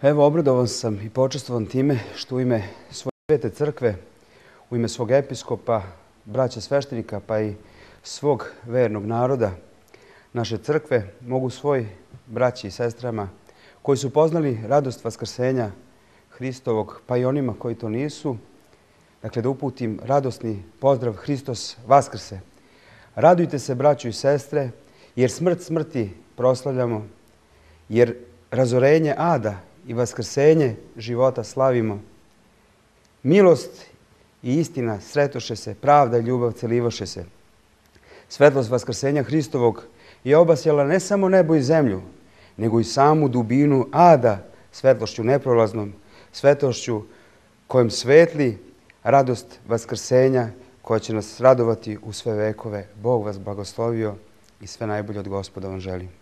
Evo, obradovan sam i počastvovan time što u ime svoje svete crkve, u ime svog episkopa, braća sveštenika pa i svog vernog naroda naše crkve mogu svoj braći i sestrama koji su poznali radost vaskrsenja Hristovog, pa i onima koji to nisu, dakle da uputim radosni pozdrav Hristos Vaskrse. Radujte se, braćo i sestre, jer smrt smrti proslavljamo, jer razorenje ada i vaskrsenje života slavimo. Milost i istina sretoše se, pravda i ljubav celivoše se. Svetlost vaskrsenja Hristovog je obasjala ne samo nebo i zemlju, nego i samu dubinu ada svetlošću neprolaznom, svetlošću kojom svetli radost vaskrsenja koja će nas radovati u sve vekove. Bog vas blagoslovio i sve najbolje od Gospoda vam želim.